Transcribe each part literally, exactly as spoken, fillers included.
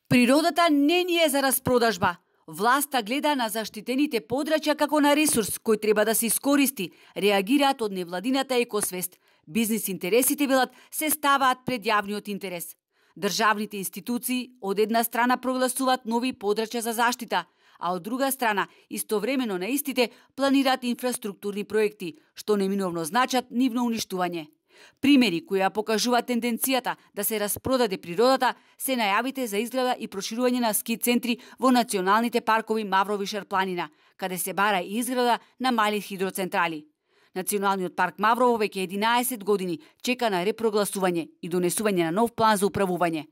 Природата не ни е за распродажба. Власта гледа на заштитените подрачја како на ресурс кој треба да се искористи, реагираат од невладината екосвест. Бизнис интересите, велат, се ставаат пред јавниот интерес. Државните институции од една страна прогласуваат нови подрачја за заштита, а од друга страна, истовремено на истите планираат инфраструктурни проекти, што неминовно значат нивно уништување. Примери кои ја покажуваат тенденцијата да се распродаде природата се најавите за изграда и проширување на ски центри во националните паркови Маврово и Шарпланина, каде се бара и изграда на мали хидроцентрали. Националниот парк Маврово веќе единаесет години чека на репрогласување и донесување на нов план за управување.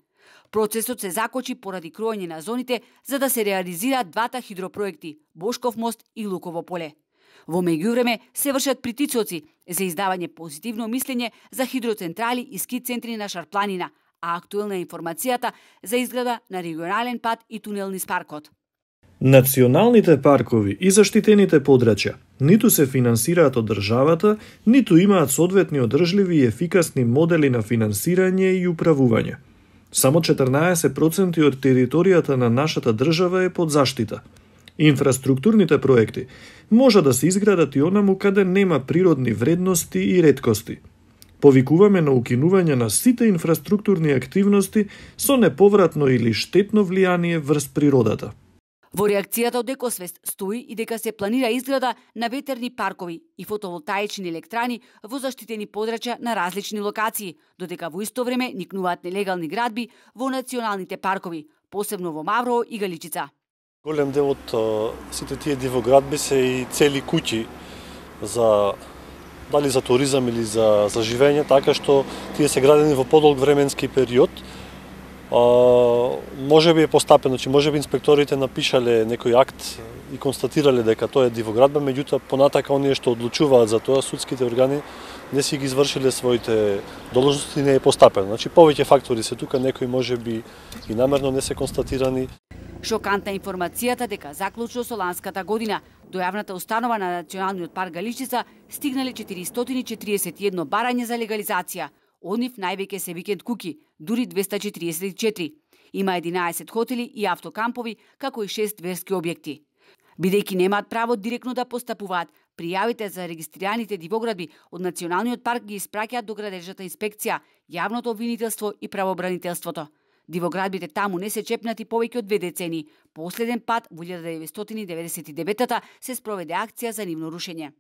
Процесот се закочи поради кројање на зоните за да се реализираат двата хидропроекти Бошков мост и Луково поле. Во меѓувреме се вршат притисоци за издавање позитивно мислење за хидроцентрали и ски центри на Шарпланина, а актуелна е информацијата за изграда на регионален пат и тунел низ паркот. Националните паркови и заштитените подрачја ниту се финансираат од државата, ниту имаат соодветни одржливи и ефикасни модели на финансирање и управување. Само четрнаесет проценти од територијата на нашата држава е под заштита. Инфраструктурните проекти може да се изградат и онаму каде нема природни вредности и реткости. Повикуваме на укинување на сите инфраструктурни активности со неповратно или штетно влијание врз природата. Во реакцијата од Екосвест стои и дека се планира изграда на ветерни паркови и фотоволтаични електрани во заштитени подрачја на различни локации, додека во исто време никнуваат нелегални градби во националните паркови, посебно во Маврово и Галичица. Голем дел од сите тие дивоградби се и цели куќи за дали за туризам или за за живење, така што тие се градени во подолг временски период. А, може би е постапено, значи може би инспекторите напишале некој акт и констатирале дека тоа е дивоградба, меѓутоа понатака оние што одлучуваат за тоа, судските органи не си ги извршиле своите должности, не е постапено. Значи повеќе фактори се тука, некои може би и намерно не се констатирани. Шокантна информацијата дека заклучно со ланската година до јавната установа на Националниот парк Галичица стигнале четиристотини четиридесет и едно барање за легализација. Од нив највеќе се викенд куки, дури двесте четиридесет и четири. Има единаесет хотели и автокампови, како и шест верски објекти. Бидејќи немаат право директно да постапуваат, пријавите за регистрираните дивоградби од Националниот парк ги испраќаат до градежната инспекција, јавното обвинителство и правообранителството. Дивоградбите таму не се чепнати повеќе од две децени. Последен пат во илјада деветстотини деветдесет и девета се спроведе акција за нивно рушење.